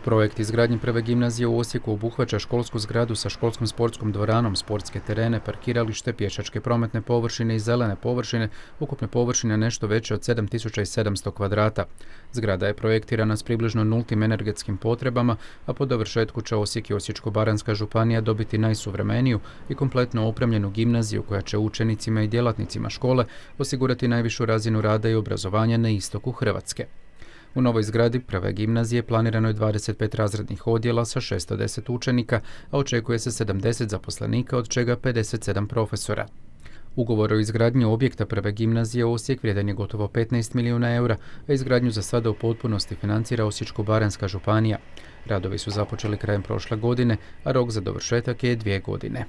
Projekt izgradnje prve gimnazije u Osijeku obuhvaća školsku zgradu sa školskom sportskom dvoranom, sportske terene, parkiralište, pješačke prometne površine i zelene površine, ukupne površine nešto veće od 7700 kvadrata. Zgrada je projektirana s približno nultim energetskim potrebama, a po dovršetku će Osijek i Osječko-baranjska županija dobiti najsuvremeniju i kompletno opremljenu gimnaziju koja će učenicima i djelatnicima škole osigurati najvišu razinu rada i obrazovanja na istoku Hrvatske. U novoj zgradi prve gimnazije planirano je 25 razrednih odjela sa 610 učenika, a očekuje se 70 zaposlenika, od čega 57 profesora. Ugovor o izgradnji objekta prve gimnazije Osijek vrijedan je gotovo 15 milijuna eura, a izgradnju za sada u potpunosti financira Osječko-baranjska županija. Radovi su započeli krajem prošle godine, a rok za dovršetak je 2 godine.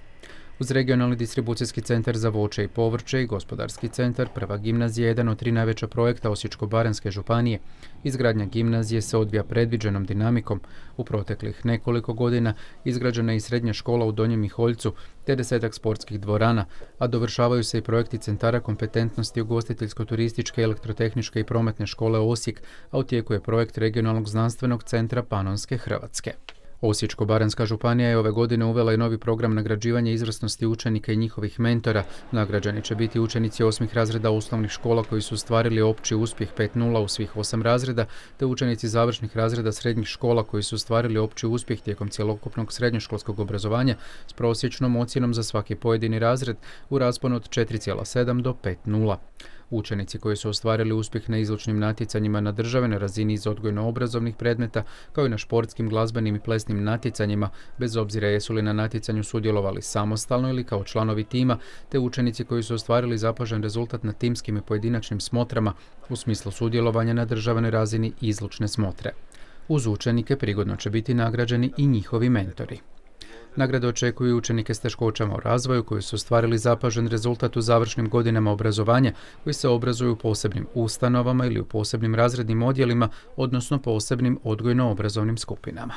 Uz regionalni distribucijski centar za voće i povrće i gospodarski centar, prva gimnazija je jedan od 3 najveća projekta Osječko-baranjske županije. Izgradnja gimnazije se odvija predviđenom dinamikom. U proteklih nekoliko godina izgrađena je i srednja škola u Donjem Miholjcu te 10-ak sportskih dvorana, a dovršavaju se i projekti centara kompetentnosti ugostiteljsko-turističke, elektrotehničke i prometne škole Osijek, a u tijeku je projekt regionalnog znanstvenog centra Panonske Hrvatske. Osječko-baranjska županija je ove godine uvela i novi program nagrađivanja izvrsnosti učenika i njihovih mentora. Nagrađeni će biti učenici 8. razreda osnovnih škola koji su ostvarili opći uspjeh 5.0 u svih 8 razreda, te učenici završnih razreda srednjih škola koji su ostvarili opći uspjeh tijekom cjelokupnog srednjoškolskog obrazovanja s prosječnom ocjenom za svaki pojedini razred u rasponu od 4,7 do 5.0. Učenici koji su ostvarili uspjeh na izlučnim natjecanjima na državnoj razini iz odgojno-obrazovnih predmeta, kao i na športskim, glazbenim i plesnim natjecanjima, bez obzira jesu li na natjecanju sudjelovali samostalno ili kao članovi tima, te učenici koji su ostvarili zapažen rezultat na timskim i pojedinačnim smotrama u smislu sudjelovanja na državnoj razini izlučne smotre. Uz učenike prigodno će biti nagrađeni i njihovi mentori. Nagrade očekuju učenike s teškoćama u razvoju koji su ostvarili zapažen rezultat u završnim godinama obrazovanja, koji se obrazuju u posebnim ustanovama ili u posebnim razrednim odjelima, odnosno posebnim odgojno-obrazovnim skupinama.